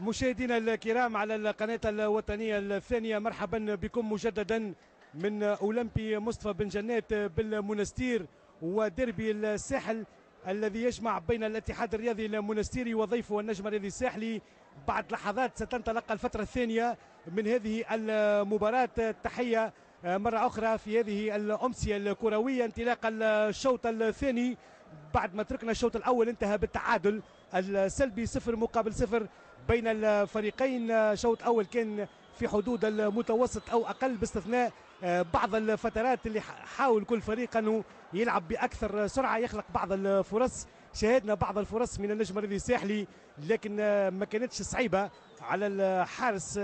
مشاهدينا الكرام على القناة الوطنية الثانية، مرحبا بكم مجددا من أولمبي مصطفى بن جنات بالمنستير وديربي الساحل الذي يجمع بين الاتحاد الرياضي المنستيري وضيفه النجم الرياضي الساحلي. بعد لحظات ستنطلق الفترة الثانية من هذه المباراة. تحية مرة أخرى في هذه الأمسية الكروية، انطلاق الشوط الثاني بعد ما تركنا الشوط الأول انتهى بالتعادل السلبي 0-0 بين الفريقين. شوط أول كان في حدود المتوسط أو أقل، باستثناء بعض الفترات اللي حاول كل فريق أنه يلعب بأكثر سرعة، يخلق بعض الفرص. شاهدنا بعض الفرص من النجم الرياضي الساحلي لكن ما كانتش صعيبة على الحارس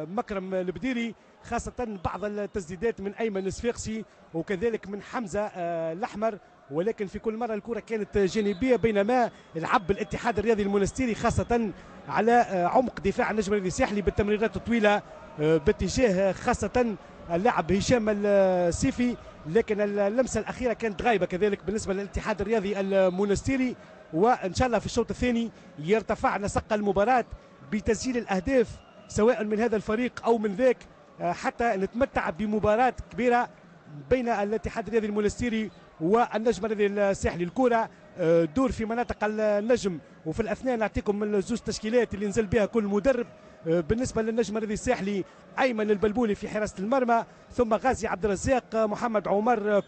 مكرم البديري، خاصة بعض التسديدات من أيمن الصفاقسي وكذلك من حمزة الأحمر، ولكن في كل مرة الكرة كانت جانبية. بينما لعب الاتحاد الرياضي المنستيري خاصة على عمق دفاع النجم الرياضي الساحلي بالتمريرات الطويلة باتجاه خاصة اللاعب هشام السيفي، لكن اللمسة الأخيرة كانت غايبة كذلك بالنسبة للاتحاد الرياضي المنستيري. وإن شاء الله في الشوط الثاني يرتفع نسق المباراة بتسجيل الأهداف سواء من هذا الفريق أو من ذاك، حتى نتمتع بمباراة كبيرة بين الاتحاد الرياضي المنستيري والنجم الرياضي الساحلي. الكرة دور في مناطق النجم، وفي الأثناء نعطيكم الزوج تشكيلات اللي نزل بها كل مدرب. بالنسبة للنجم الرياضي الساحلي أيمن البلبولي في حراسة المرمى، ثم غازي عبد الرزاق، محمد عمر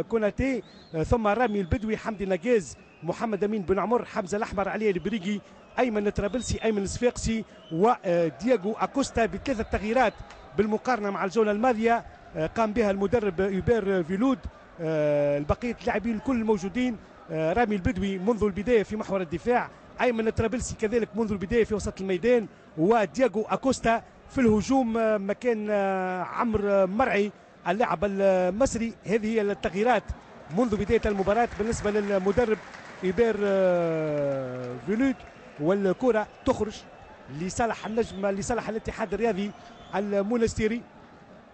كوناتي، ثم رامي البدوي، حمدي نجاز، محمد أمين بن عمر، حمزة الأحمر، علي البريقي، أيمن الطرابلسي، أيمن الصفاقسي، ودياغو أكوستا. بثلاثة تغييرات بالمقارنة مع الجولة الماضية قام بها المدرب يوبير فيلود. البقية اللاعبين الكل موجودين. رامي البدوي منذ البداية في محور الدفاع، أيمن الطرابلسي كذلك منذ البداية في وسط الميدان، ودياغو أكوستا في الهجوم مكان عمرو مرعي اللاعب المصري. هذه هي التغييرات منذ بداية المباراة بالنسبة للمدرب إيبير فيلود. والكرة تخرج لصالح النجم، لصالح الاتحاد الرياضي المونستيري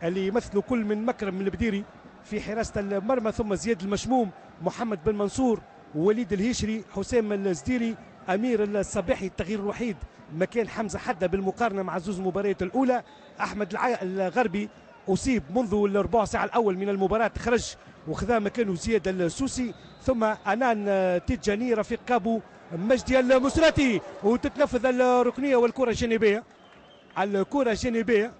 اللي يمثلوا كل من مكرم البديري في حراسة المرمى، ثم زياد المشموم، محمد بن منصور، وليد الهيشري، حسام الزديري، أمير الصباحي. التغيير الوحيد مكان حمزة حدة بالمقارنة مع زوز مباريات الأولى. أحمد الغربي أصيب منذ الربع ساعة الأول من المباراة، خرج وخذا مكانه زياد السوسي، ثم أنان تيجاني، رفيق كابو، مجدي المسراتي. وتتنفذ الركنية والكرة الجانبية، الكرة الجانبية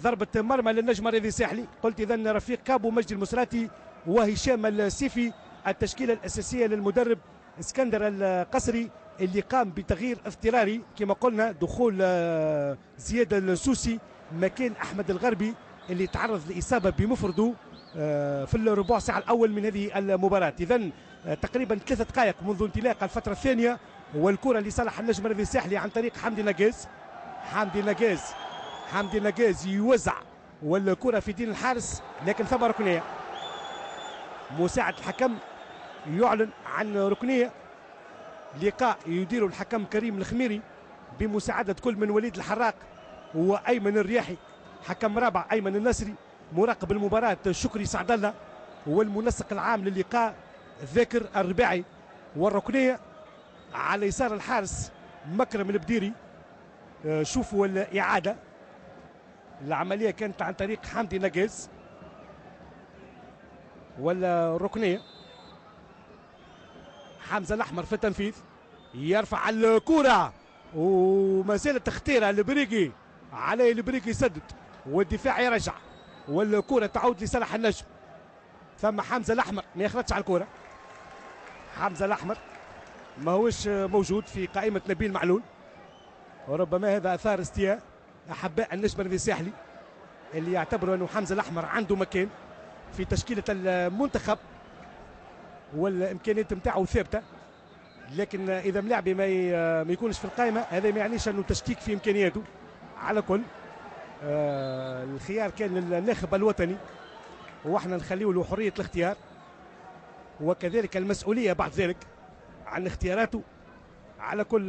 ضربة مرمى للنجم الرياضي الساحلي. قلت إذن رفيق كابو، مجدي المسراتي، وهشام السيفي، التشكيلة الأساسية للمدرب اسكندر القصري اللي قام بتغيير اضطراري كما قلنا، دخول زياد السوسي مكان أحمد الغربي اللي تعرض لإصابة بمفرده في الربع ساعة الأول من هذه المباراة. إذن تقريبا 3 دقائق منذ انطلاق الفترة الثانية، والكرة لصالح النجم الرياضي الساحلي عن طريق حمدي نجاز. حمدي نجاز، حمدي نجاز يوزع والكرة في دين الحارس، لكن ثم ركنية. مساعد الحكم يعلن عن ركنية. لقاء يديره الحكم كريم الخميري بمساعدة كل من وليد الحراق وأيمن الرياحي، حكم رابع أيمن النصري، مراقب المباراة شكري سعد الله، والمنسق العام للقاء ذاكر الرباعي. والركنية على يسار الحارس مكرم البديري. شوفوا الإعادة، العملية كانت عن طريق حمدي نجاز. والركنية حمزة الأحمر في التنفيذ، يرفع الكرة وما زالت خطيرة. البريقي، علي البريقي يسدد والدفاع يرجع، والكرة تعود لصالح النجم. ثم حمزة الأحمر ما يخرجش على الكرة، حمزة الأحمر ما هوش موجود في قائمة نبيل معلول، وربما هذا أثار استياء أحباء النجم الرياضي الساحلي اللي يعتبروا أنه حمزة الأحمر عنده مكان في تشكيلة المنتخب والإمكانيات نتاعو ثابتة، لكن إذا ملاعبي ما يكونش في القائمة هذا ما يعنيش أنه تشكيك في إمكانياته. على كل الخيار كان للناخب الوطني، واحنا نخليه له حرية الاختيار وكذلك المسؤولية بعد ذلك عن اختياراته. على كل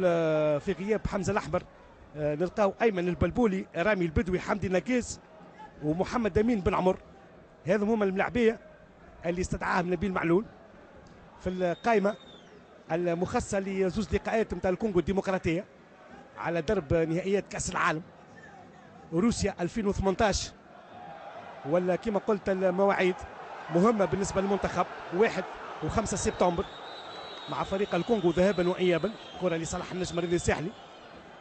في غياب حمزة الأحمر نلقاو أيمن البلبولي، رامي البدوي، حمدي نجاز، ومحمد أمين بن عمر. هذم هما الملاعبية اللي استدعاهم نبيل معلول في القائمة المخصصة لزوز لقاءات نتاع الكونغو الديمقراطية. على درب نهائيات كأس العالم روسيا 2018، ولا كما قلت المواعيد مهمة بالنسبة للمنتخب 1 و5 سبتمبر مع فريق الكونغو ذهابا وإيابا. كرة لصالح النجم الرياضي الساحلي،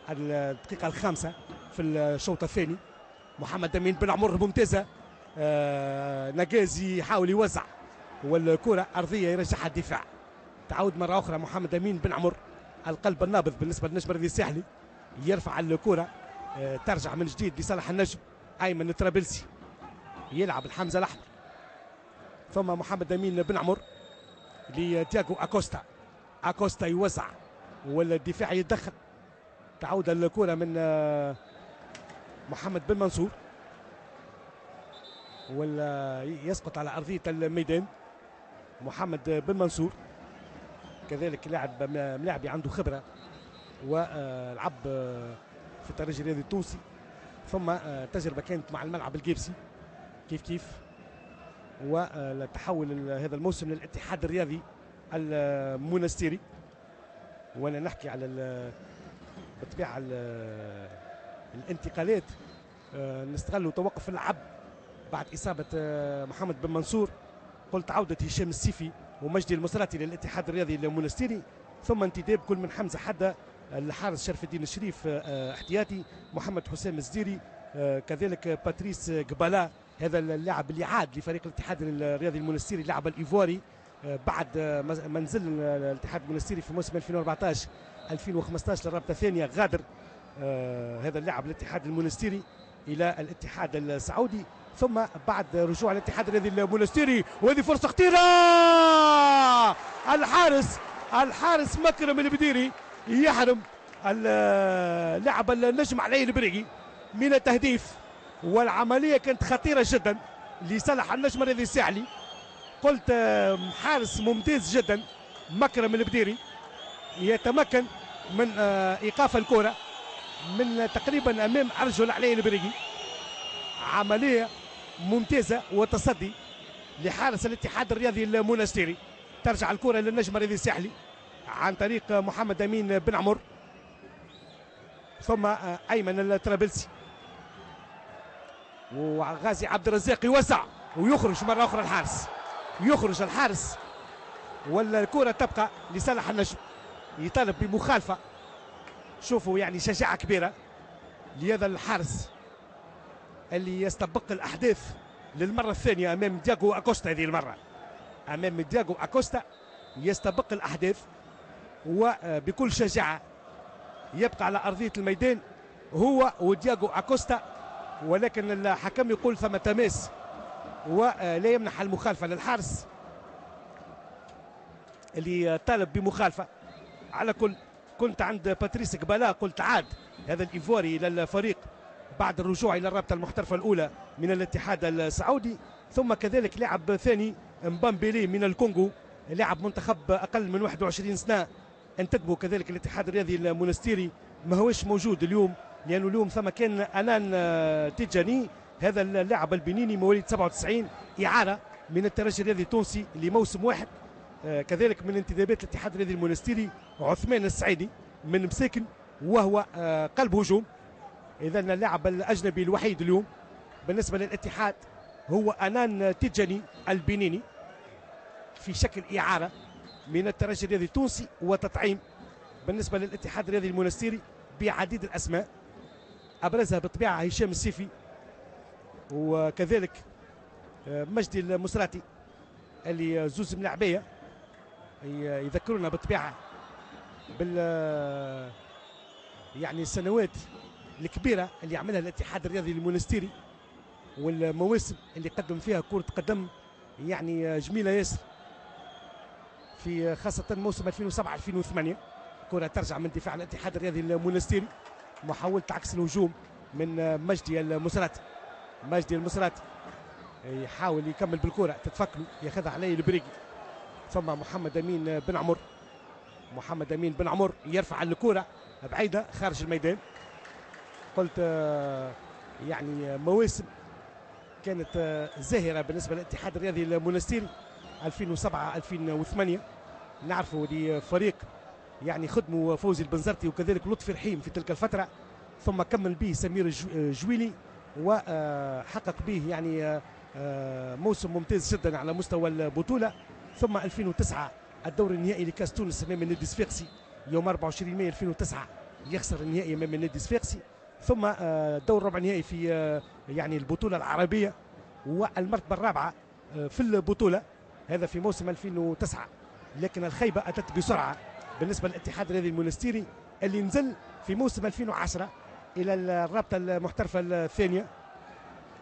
الدقيقة الخامسة في الشوط الثاني. محمد أمين بن عمر ممتازة، نجازي يحاول يوزع والكرة أرضية يرجعها الدفاع. تعود مرة أخرى محمد أمين بن عمر، القلب النابض بالنسبة للنجم الرياضي الساحلي، يرفع الكرة، ترجع من جديد لصالح النجم. أيمن الطرابلسي يلعب الحمزة الأحمر، ثم محمد أمين بن عمر لتياغو أكوستا، أكوستا يوزع والدفاع يتدخل. تعود الكرة من محمد بن منصور ولا يسقط على أرضية الميدان محمد بن منصور، كذلك لاعب ملاعبي عنده خبرة ولعب في الترجي الرياضي التونسي، ثم تجربة كانت مع الملعب الجيبسي كيف كيف، والتحول هذا الموسم للاتحاد الرياضي المونستيري. وانا نحكي على بالطبيعة الانتقالات، نستغلوا توقف اللعب بعد إصابة محمد بن منصور. قلت عودة هشام السيفي ومجدي المصراتي للاتحاد الرياضي المونستيري، ثم انتداب كل من حمزة حدة، الحارس شرف الدين الشريف احتياطي، محمد حسام الزديري، كذلك باتريس قبالا هذا اللاعب اللي عاد لفريق الاتحاد الرياضي المونستيري، اللاعب الايفواري بعد منزل الاتحاد المونستيري في موسم 2014 2015 للرابطة الثانية، غادر هذا اللاعب الاتحاد المونستيري الى الاتحاد السعودي، ثم بعد رجوع الاتحاد الرياضي المونستيري. وهذه فرصة خطيرة، الحارس مكرم البديري يحرم اللاعب النجم علي البريقي من التهديف، والعملية كانت خطيرة جدا لصالح النجم الرياضي الساحلي. قلت حارس ممتاز جدا مكرم البديري، يتمكن من ايقاف الكره من تقريبا امام ارجل علي البريقي. عملية ممتازة وتصدي لحارس الاتحاد الرياضي المونستيري. ترجع الكره للنجم الرياضي الساحلي عن طريق محمد امين بن عمر، ثم ايمن الطرابلسي وغازي عبد الرزاق يوسع ويخرج مرة اخرى الحارس، يخرج الحارس والكره تبقى لصالح النجم. يطالب بمخالفة، شوفوا يعني شجاعة كبيرة لهذا الحارس اللي يستبق الاحداث للمرة الثانية امام دياغو اكوستا. هذه المرة امام دياغو اكوستا يستبق الاحداث وبكل شجاعة يبقى على ارضية الميدان هو ودياغو اكوستا، ولكن الحكم يقول ثم تماس ولا يمنح المخالفة للحارس اللي طالب بمخالفة. على كل كنت عند باتريس قبالا، قلت عاد هذا الايفواري الى الفريق بعد الرجوع الى الرابطة المحترفه الاولى من الاتحاد السعودي، ثم كذلك لاعب ثاني مبامبيلي من الكونغو، لاعب منتخب اقل من 21 سنة، انتدبوا كذلك الاتحاد الرياضي المونستيري، ما هوش موجود اليوم لانه اليوم ثم كان انان تيجاني هذا اللاعب البنيني مواليد 97 اعاره من الترجي الرياضي التونسي لموسم واحد. كذلك من انتدابات الاتحاد الرياضي المونستيري عثمان السعيدي من مساكن وهو قلب هجوم. اذا اللاعب الاجنبي الوحيد اليوم بالنسبة للاتحاد هو انان تيجاني البنيني في شكل اعاره من الترجي الرياضي التونسي، وتطعيم بالنسبة للاتحاد الرياضي المونستيري بعديد الاسماء ابرزها بالطبيعة هشام السيفي وكذلك مجدي المسراتي اللي زوز ملاعبيه يذكرونا بالطبيعة بال يعني السنوات الكبيرة اللي عملها الاتحاد الرياضي المونستيري والمواسم اللي قدم فيها كره قدم يعني جميلة ياسر، في خاصة موسم 2007 2008. كره ترجع من دفاع الاتحاد الرياضي المونستيري، محاولة عكس الهجوم من مجدي المسراتي. مجدي المسراتي يحاول يكمل بالكرة، تتفكله، ياخذها عليه البريقي، ثم محمد امين بن عمر. محمد امين بن عمر يرفع الكره بعيدة خارج الميدان. قلت يعني مواسم كانت زاهره بالنسبة للاتحاد الرياضي المونستيري 2007 2008. نعرفوا لفريق يعني خدموا فوزي البنزرتي وكذلك لطفي رحيم في تلك الفترة، ثم كمل به سمير الجويلي وحقق به يعني موسم ممتاز جدا على مستوى البطولة. ثم 2009 الدور النهائي لكاس تونس امام النادي الصفاقسي يوم 24 مايو 2009 يخسر النهائي امام النادي الصفاقسي. ثم دور ربع نهائي في يعني البطولة العربية والمرتبة الرابعة في البطولة، هذا في موسم 2009. لكن الخيبه اتت بسرعة بالنسبة للاتحاد الرياضي المونستيري اللي نزل في موسم 2010 الى الرابطة المحترفه الثانية،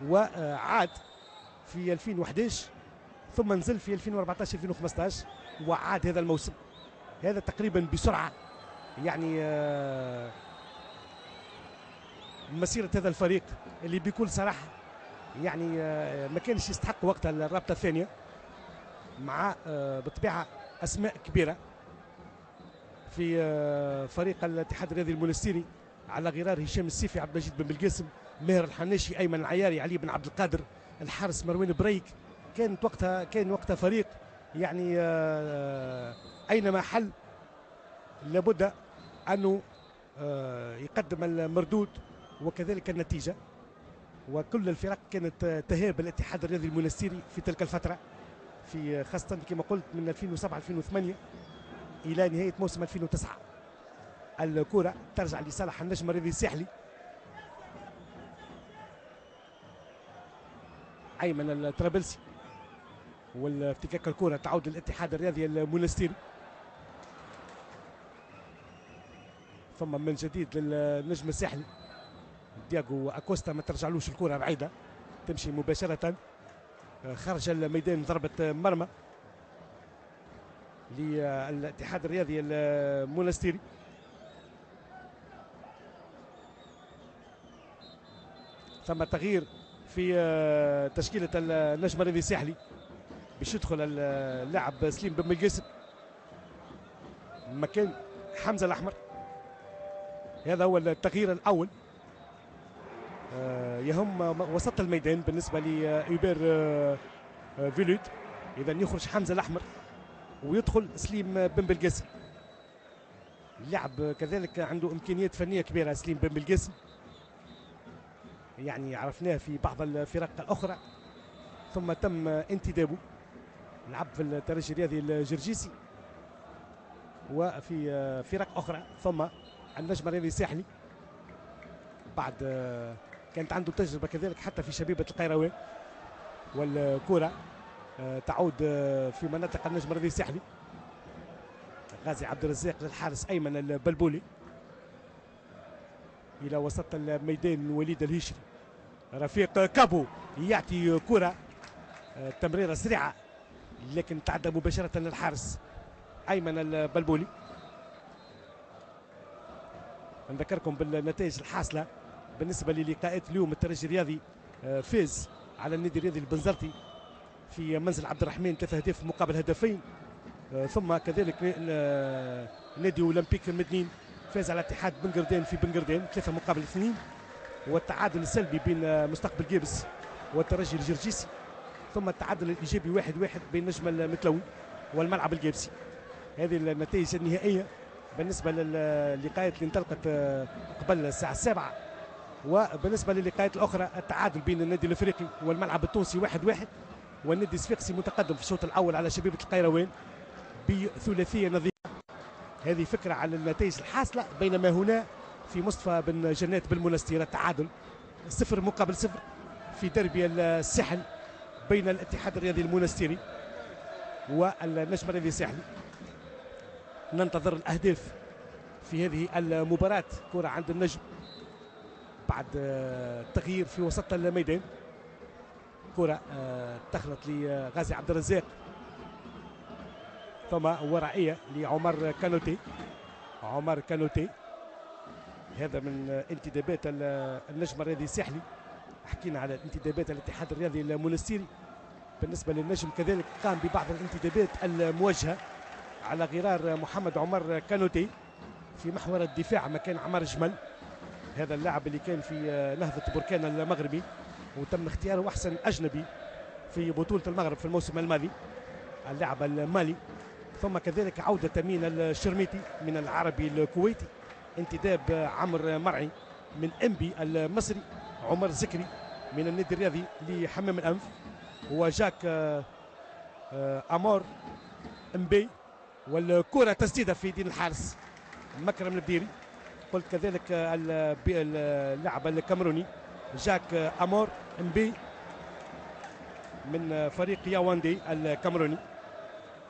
وعاد في 2011، ثم نزل في 2014 2015 وعاد هذا الموسم. هذا تقريبا بسرعة يعني مسيره هذا الفريق اللي بكل صراحة يعني ما كانش يستحق وقتها الرابطة الثانية، مع بالطبيعة اسماء كبيرة في فريق الاتحاد الرياضي المونستيري على غرار هشام السيفي، عبد المجيد بن بالقاسم، ماهر الحناشي، ايمن العياري، علي بن عبد القادر، الحارس مروان بريك. كان وقتها فريق يعني اينما حل لابد انه يقدم المردود وكذلك النتيجة، وكل الفرق كانت تهاب الاتحاد الرياضي المونستيري في تلك الفترة، في خاصة كما قلت من 2007 2008 الى نهاية موسم 2009. الكره ترجع لصالح النجم الرياضي الساحلي. ايمن الطرابلسي والافتكاك الكره تعود للاتحاد الرياضي المونستيري. ثم من جديد للنجم الساحلي دياغو اكوستا، ما ترجعلوش الكره بعيدة، تمشي مباشرة خارج الميدان، ضربه مرمى للاتحاد الرياضي المونستيري. ثم تغيير في تشكيله النجم الرياضي الساحلي باش يدخل اللاعب سليم بن بالقاسم مكان حمزة الاحمر. هذا هو التغيير الاول، يهم وسط الميدان بالنسبة لإيبر فيلوت. اذا يخرج حمزة الاحمر ويدخل سليم بن بالقاسم. اللاعب كذلك عنده امكانيات فنية كبيرة سليم بن بالقاسم، يعني عرفناه في بعض الفرق الاخرى، ثم تم انتدابه، لعب في الترجي الرياضي الجرجيسي وفي فرق اخرى، ثم النجم الرياضي الساحلي بعد كانت عنده تجربه كذلك حتى في شبيبة القيروان. والكره تعود في مناطق النجم الرياضي الساحلي. غازي عبد الرزاق للحارس ايمن البلبولي الى وسط الميدان وليد الهشري. رفيق كابو يعطي كره تمريره سريعة لكن تعدى مباشرة للحارس ايمن البلبولي. نذكركم بالنتائج الحاصلة بالنسبة للقاءات اليوم. الترجي الرياضي فاز على النادي الرياضي البنزرتي في منزل عبد الرحمن 3 أهداف مقابل هدفين، ثم كذلك نادي اولمبيك مدنين فاز على اتحاد بنقردان في بنقردان 3 مقابل 2، والتعادل السلبي بين مستقبل جيبس والترجي الجرجيسي، ثم التعادل الايجابي 1-1 بين نجم المتلوي والملعب الجيبسي. هذه النتائج النهائية بالنسبة للقاءات اللي انطلقت قبل الساعة 7. وبالنسبة للقاءات الاخرى التعادل بين النادي الافريقي والملعب التونسي 1-1، والنادي الصفاقسي متقدم في الشوط الاول على شبيبة القيروان بثلاثيه نظيفة. هذه فكرة على النتائج الحاصلة. بينما هنا في مصطفى بن جنات بالمنستير التعادل 0 مقابل 0 في دربي الساحل بين الاتحاد الرياضي المونستيري والنجم الرياضي الساحلي. ننتظر الاهداف في هذه المباراة. كره عند النجم بعد تغيير في وسط الميدان، كره دخلت لغازي عبد الرزاق، ثم ورائيه لعمر كانوتي. عمر كانوتي هذا من انتدابات النجم الرياضي الساحلي. حكينا على انتدابات الاتحاد الرياضي المونستيري. بالنسبة للنجم كذلك قام ببعض الانتدابات الموجهة على غرار محمد عمر كانوتي في محور الدفاع مكان عمر جمل، هذا اللاعب اللي كان في نهضة بركان المغربي وتم اختياره أحسن أجنبي في بطولة المغرب في الموسم الماضي، اللاعب المالي. ثم كذلك عودة أمين الشرميتي من العربي الكويتي، انتداب عمر مرعي من انبي المصري، عمر زكري من النادي الرياضي لحمام الأنف، وجاك أمور امبي. والكرة تسديدة في دين الحارس مكرم البديري. قلت كذلك اللاعب الكاميروني جاك أمور امبي من فريق ياواندي الكاميروني.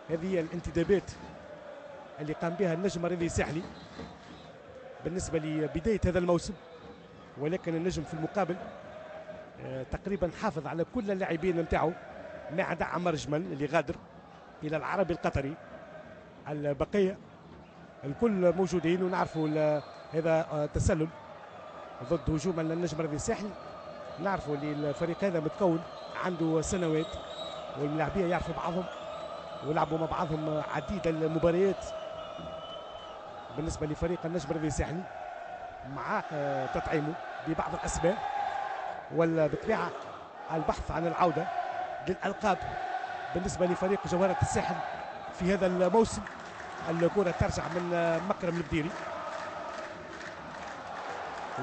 هذه الانتدابات اللي قام بها النجم الرياضي الساحلي بالنسبة لبداية هذا الموسم، ولكن النجم في المقابل تقريبا حافظ على كل اللاعبين نتاعو ما عدا عمر جمل اللي غادر إلى العربي القطري. البقية الكل موجودين، ونعرفوا هذا تسلل ضد هجوم النجم الرياضي الساحلي. نعرفوا اللي الفريق هذا متكون عنده سنوات، والملاعبية يعرفوا بعضهم ولعبوا مع بعضهم عديد المباريات. بالنسبة لفريق النجم الرياضي الساحلي مع تطعيمه ببعض الأسماء، وبالطبيعة البحث عن العودة للألقاب بالنسبة لفريق جوهرة الساحل في هذا الموسم. الكرة ترجع من مكرم البديري،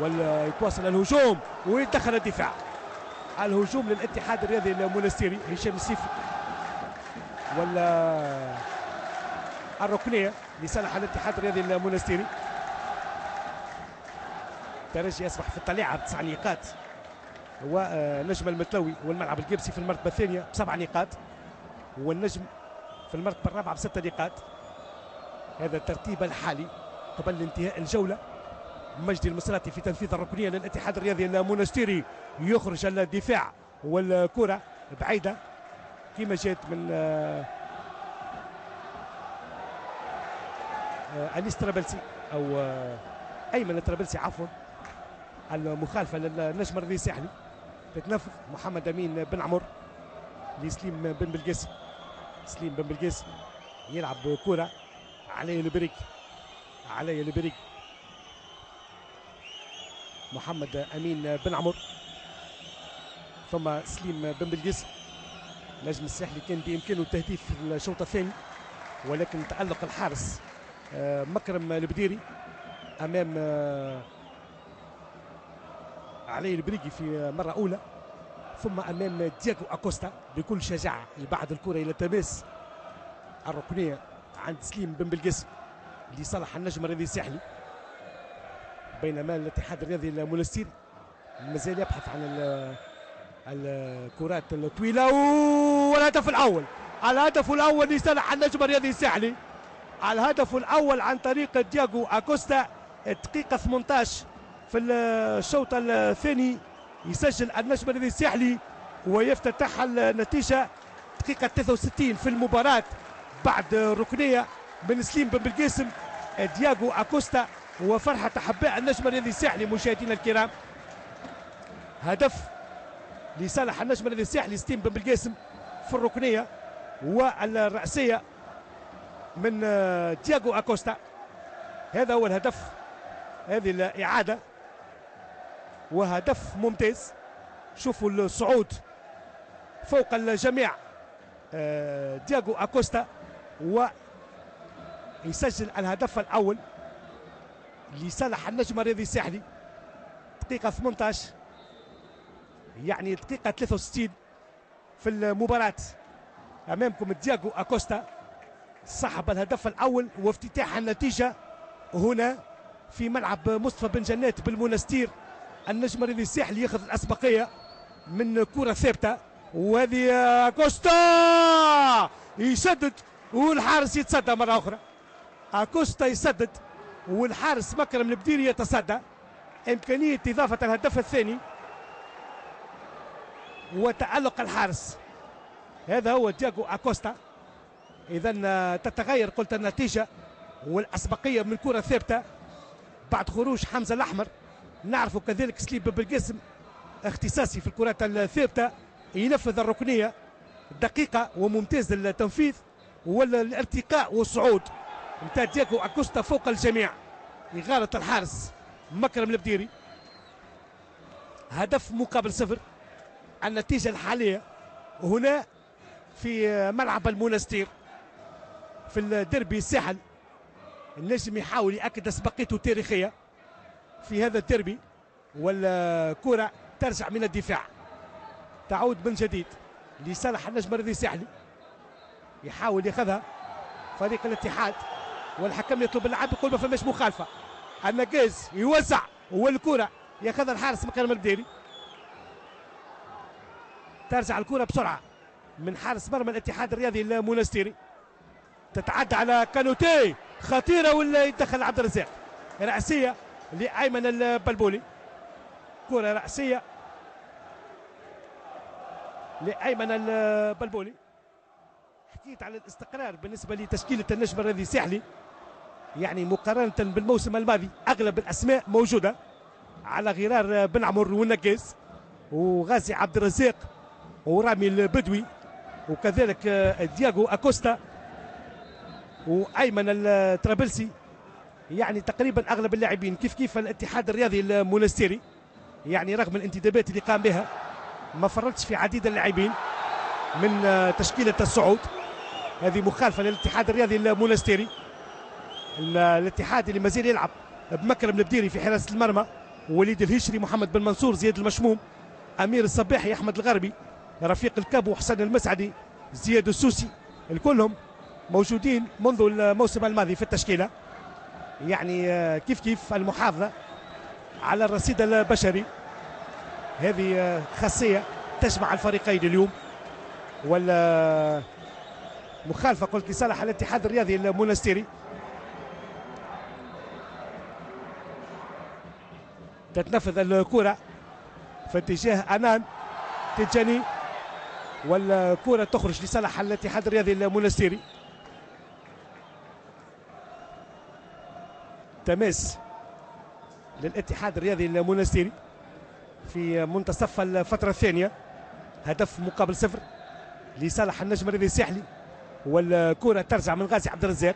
ويتواصل الهجوم ويدخل الدفاع. الهجوم للاتحاد الرياضي المونستيري، هشام السيفي، ولا الركنية لصالح الاتحاد الرياضي المونستيري. الترجي يصبح في الطليعة ب9 نقاط، ونجم المتلوي والملعب القبسي في المرتبة الثانية ب7 نقاط، والنجم في المرتبة الرابعة ب6 نقاط. هذا الترتيب الحالي قبل انتهاء الجولة. مجدي المصراتي في تنفيذ الركنية للاتحاد الرياضي المونستيري، يخرج الدفاع والكرة بعيدة كما جات من أنيس طرابلسي أو أيمن طرابلسي عفوا. المخالفة للنجم الرياضي الساحلي تتنفذ محمد أمين بن عمر لسليم بن بلقاسم. سليم بن بلقاسم يلعب كرة علي البريك، علي البريك، محمد أمين بن عمر، ثم سليم بن بلقاسم. نجم الساحلي كان بإمكانه التهديف في الشوط الثاني، ولكن تألق الحارس مكرم البديري أمام علي البريقي في مرة أولى، ثم أمام دياغو أكوستا بكل شجاعة يبعد الكرة إلى تماس الركنية عند سليم بن بلقاسم لصالح النجم الرياضي الساحلي. بينما الاتحاد الرياضي المونستيري مازال يبحث عن الكرات الطويلة. والهدف الأول، الهدف الأول لصالح النجم الرياضي الساحلي، الهدف الأول عن طريق دياغو أكوستا. الدقيقة 18 في الشوط الثاني يسجل النجم الرياضي الساحلي ويفتتح النتيجة. دقيقة 63 في المباراة بعد ركنية من سليم بن بلقاسم، دياغو أكوستا وفرحة أحباء النجم الرياضي الساحلي. مشاهدينا الكرام، هدف لصالح النجم الرياضي الساحلي سليم بن بلقاسم في الركنية والرأسية من دياغو أكوستا. هذا هو الهدف، هذه الإعادة، وهدف ممتاز. شوفوا الصعود فوق الجميع، دياغو أكوستا ويسجل الهدف الأول لصالح النجم الرياضي الساحلي. دقيقة 18 يعني دقيقة 63 في المباراة. أمامكم دياغو أكوستا صاحب الهدف الأول وافتتاح النتيجة هنا في ملعب مصطفى بن جنات بالمنستير. النجم الرياضي الساحلي ياخذ الأسبقية من كرة ثابتة، وهذه أكوستا يسدد والحارس يتصدى مرة أخرى. أكوستا يسدد والحارس مكرم البديري يتصدى. إمكانية إضافة الهدف الثاني وتألق الحارس. هذا هو دياغو أكوستا. إذا تتغير قلت النتيجة والأسبقية من كرة ثابتة بعد خروج حمزة الأحمر. نعرف كذلك سليم بن بلقاسم اختصاصي في الكرات الثابتة، ينفذ الركنية دقيقة وممتاز التنفيذ والارتقاء والصعود نتاع دياغو أكوستا فوق الجميع. إغارة الحارس مكرم البديري. هدف مقابل صفر النتيجة الحالية هنا في ملعب المنستير في الديربي الساحل. النجم يحاول يأكد أسبقيته التاريخية في هذا الديربي، والكرة ترجع من الدفاع، تعود من جديد لصالح النجم الرياضي الساحلي. يحاول ياخذها فريق الاتحاد، والحكم يطلب اللعب، يقول ما فماش مخالفة. النقاز يوزع والكرة ياخذها الحارس مكرم البديري. ترجع الكرة بسرعة من حارس مرمى الاتحاد الرياضي المونستيري، تتعدى على كانوتي، خطيرة ولا يدخل عبد الرزاق. رأسية لأيمن البلبولي، كرة رأسية لأيمن البلبولي. حكيت على الاستقرار بالنسبة لتشكيلة النجم الرياضي الساحلي، يعني مقارنة بالموسم الماضي أغلب الأسماء موجودة على غرار بن عمر والنقاز وغازي عبد الرزاق ورامي البدوي وكذلك دياغو أكوستا وأيمن الترابلسي، يعني تقريبا أغلب اللاعبين. كيف كيف الاتحاد الرياضي المونستيري، يعني رغم الانتدابات اللي قام بها ما فرطش في عديد اللاعبين من تشكيلة الصعود. هذه مخالفة للاتحاد الرياضي المونستيري، الاتحاد اللي مازال يلعب بمكرم البديري في حراسة المرمى، وليد الهشري، محمد بن منصور، زياد المشموم، أمير الصباحي، أحمد الغربي، رفيق الكابو، حسن المسعدي، زياد السوسي، الكلهم موجودين منذ الموسم الماضي في التشكيلة. يعني كيف كيف المحافظة على الرصيد البشري، هذه خاصية تجمع الفريقين اليوم. ولا مخالفة قلت لصالح الاتحاد الرياضي المونستيري. تتنفذ الكرة في اتجاه أنان تجاني، والكرة تخرج لصالح الاتحاد الرياضي المونستيري. تماس للاتحاد الرياضي المونستيري في منتصف الفترة الثانية، هدف مقابل صفر لصالح النجم الرياضي الساحلي، والكرة ترجع من غازي عبد الرزاق.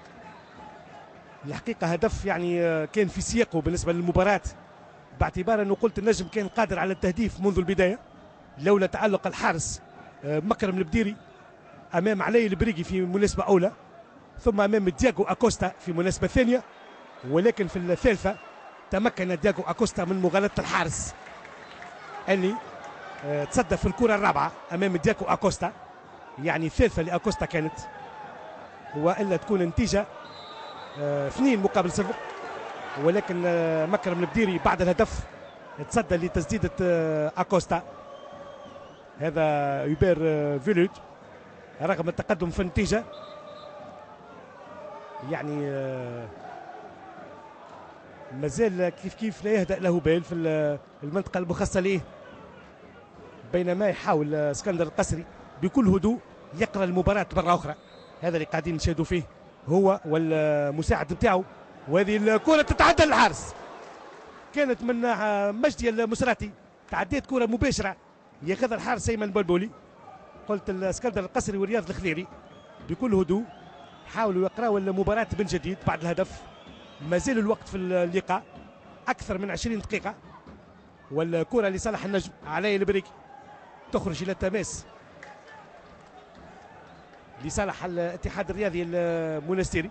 الحقيقة هدف يعني كان في سياقه بالنسبة للمباراة، باعتبار أنه قلت النجم كان قادر على التهديف منذ البداية لولا تألق الحارس مكرم البديري أمام علي البريقي في مناسبة أولى، ثم أمام دياغو أكوستا في مناسبة ثانية، ولكن في الثالثة تمكن دياغو أكوستا من مغالطة الحارس اللي تصدى في الكرة الرابعة أمام دياغو أكوستا. يعني الثالثة لأكوستا كانت، وإلا تكون النتيجة 2-0، ولكن مكرم البديري بعد الهدف تصدى لتسديدة أكوستا. هذا يوبير فيلود رغم التقدم في النتيجة، يعني مازال كيف كيف لا يهدأ له بال في المنطقة المخصصة ليه، بينما يحاول اسكندر القصري بكل هدوء يقرأ المباراة مرة أخرى. هذا اللي قاعدين نشاهدوا فيه هو والمساعد بتاعه. وهذه الكرة تتعدى للحارس، كانت من مجدي المسراتي، تعديت كرة مباشرة ياخذها الحارس أيمن بلبولي. قلت الاسكندر القصري ورياض الخليري بكل هدوء حاولوا يقراوا المباراة من جديد بعد الهدف. مازال الوقت في اللقاء أكثر من 20 دقيقة، والكرة لصالح النجم علي البريكي تخرج إلى التماس لصالح الاتحاد الرياضي المونستيري.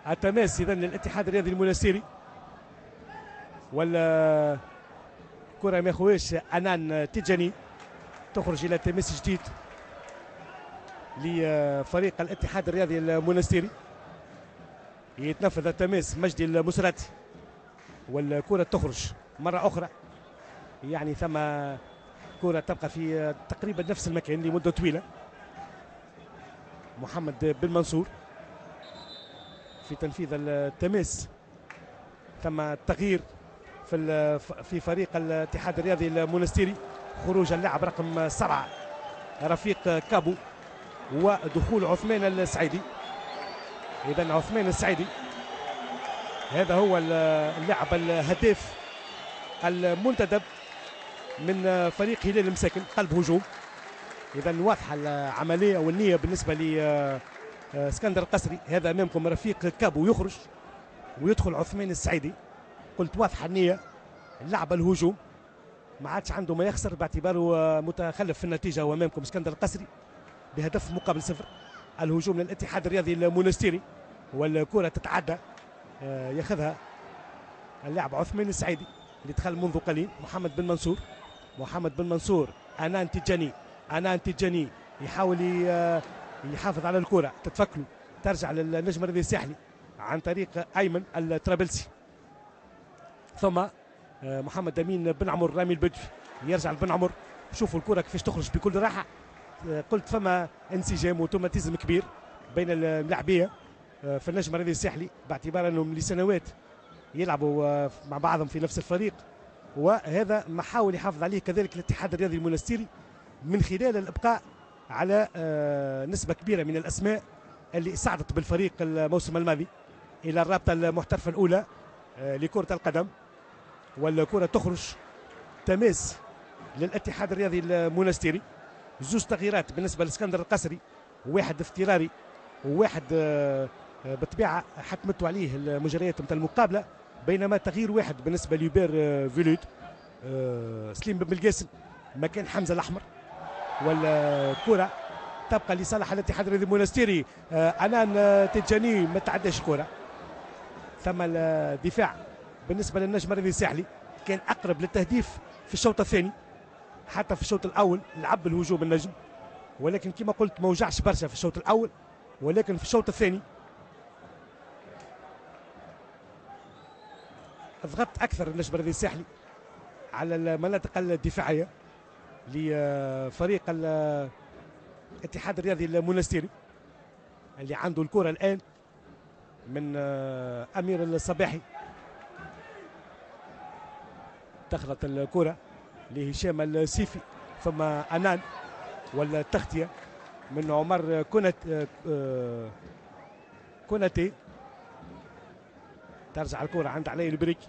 التماس اذا للاتحاد الرياضي المونستيري، ولا كرة ما ياخوهاش أنان تيجاني، تخرج إلى تماس جديد لفريق الاتحاد الرياضي المونستيري. يتنفذ التماس مجدي المسراتي، والكرة تخرج مرة أخرى. يعني ثم كرة تبقى في تقريبا نفس المكان لمدة طويلة. محمد بن منصور في تنفيذ التماس. ثم تغيير في فريق الاتحاد الرياضي المونستيري، خروج اللاعب رقم 7 رفيق كابو ودخول عثمان السعيدي. إذا عثمان السعيدي هذا هو اللاعب الهداف المنتدب من فريق هلال المساكن، قلب هجوم. إذا واضحة العملية والنية بالنسبة اسكندر القصري. هذا امامكم رفيق كابو يخرج ويدخل عثمان السعيدي. قلت واضحة النية، اللعبة الهجوم، ما عادش عنده ما يخسر باعتباره متخلف في النتيجة. وامامكم اسكندر القصري بهدف مقابل صفر. الهجوم للاتحاد الرياضي المونستيري والكره تتعدى، ياخذها اللاعب عثمان السعيدي اللي دخل منذ قليل. محمد بن منصور، محمد بن منصور، انان تيجاني، انان تيجاني يحاول يحافظ على الكره، تتفكله، ترجع للنجم الرياضي الساحلي عن طريق ايمن الطرابلسي، ثم محمد امين بن عمر، رامي البدوي يرجع لبن عمر. شوفوا الكره كيفاش تخرج بكل راحة. قلت فما انسجام وتوماتيزم كبير بين اللاعبيه في النجم الرياضي الساحلي، باعتبار انهم لسنوات يلعبوا مع بعضهم في نفس الفريق، وهذا ما حاول يحافظ عليه كذلك الاتحاد الرياضي المونستيري من خلال الابقاء على نسبه كبيرة من الاسماء اللي صعدت بالفريق الموسم الماضي الى الرابطة المحترفه الاولى لكرة القدم. والكره تخرج تماس للاتحاد الرياضي المونستيري. زوج تغييرات بالنسبة لاسكندر القصري، واحد اضطراري وواحد بالطبيعة حتمته عليه المجريات نتاع المقابلة، بينما تغيير واحد بالنسبة ليوبير فيلود، سليم بن بالقاسم مكان حمزة الاحمر. والكره تبقى لصالح الاتحاد الرياضي المونستيري. انان تيجاني ما تعداش الكره. ثم الدفاع بالنسبة للنجم الرياضي الساحلي كان اقرب للتهديف في الشوط الثاني، حتى في الشوط الاول لعب الهجوم النجم، ولكن كما قلت ما وجعش برشا في الشوط الاول، ولكن في الشوط الثاني ضغط اكثر النجم الرياضي الساحلي على المناطق الدفاعية لفريق الاتحاد الرياضي المونستيري اللي عنده الكره الان من امير الصباحي. دخلت الكره لهشام السيفي، ثم انان، والتغطيه من عمر كوناتي. ترجع الكره عند علي البريكي.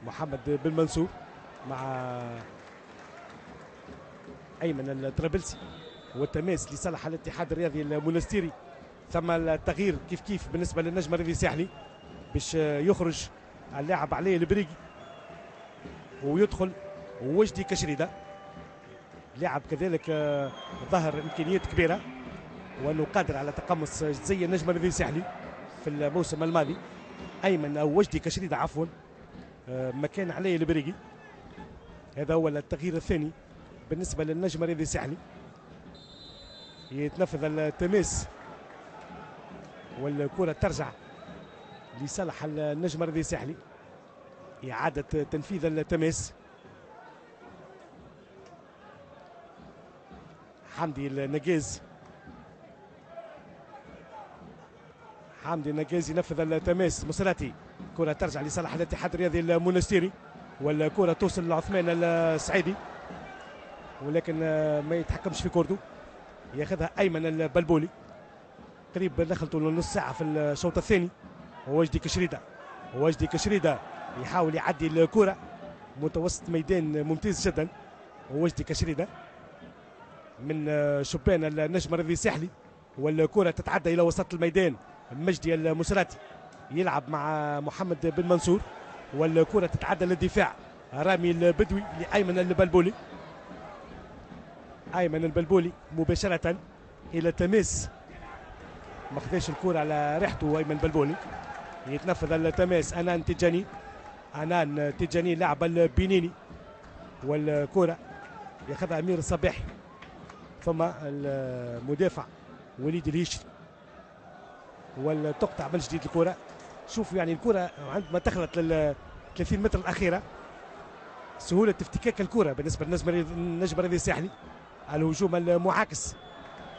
محمد بن منصور مع ايمن الطرابلسي، والتماس لصالح الاتحاد الرياضي المونستيري. ثم التغيير كيف كيف بالنسبة للنجم الرياضي الساحلي باش يخرج اللاعب علي البريقي ويدخل وجدي كشريده، لاعب كذلك ظهر امكانيات كبيرة وانه قادر على تقمص زي النجم الرياضي الساحلي في الموسم الماضي. ايمن او وجدي كشريده عفوا مكان علي البريقي. هذا هو التغيير الثاني بالنسبة للنجم الرياضي الساحلي. يتنفذ التماس والكره ترجع لصالح النجم الرياضي الساحلي. إعادة تنفيذ التماس. حمدي النجاز، حمدي النجاز ينفذ التماس. مصراتي، كرة ترجع لصالح الاتحاد الرياضي المونستيري، والكرة توصل لعثمان السعيدي ولكن ما يتحكمش في كورته، ياخذها أيمن البلبولي. قريب دخلته لنص ساعة في الشوط الثاني. وجدي كشريدة، وجدي كشريدة يحاول يعدي الكرة، متوسط ميدان ممتاز جدا. وجدي كشريدة من شبان النجم الرياضي الساحلي، والكرة تتعدى إلى وسط الميدان. مجدي المسراتي يلعب مع محمد بن منصور، والكرة تتعدى للدفاع. رامي البدوي لأيمن البلبولي، أيمن البلبولي مباشرة إلى تماس، ما خذاش الكرة على ريحته أيمن بلبولي. يتنفذ التماس أنان تيجاني، أنان تيجاني لاعب البنيني، والكرة ياخذها أمير الصباحي، ثم المدافع وليد الهيشري، وتقطع من جديد الكرة. شوفوا يعني الكرة عندما دخلت لل 30 متر الأخيرة سهولة افتكاك الكرة بالنسبة للنجم الرياضي الساحلي. الهجوم المعاكس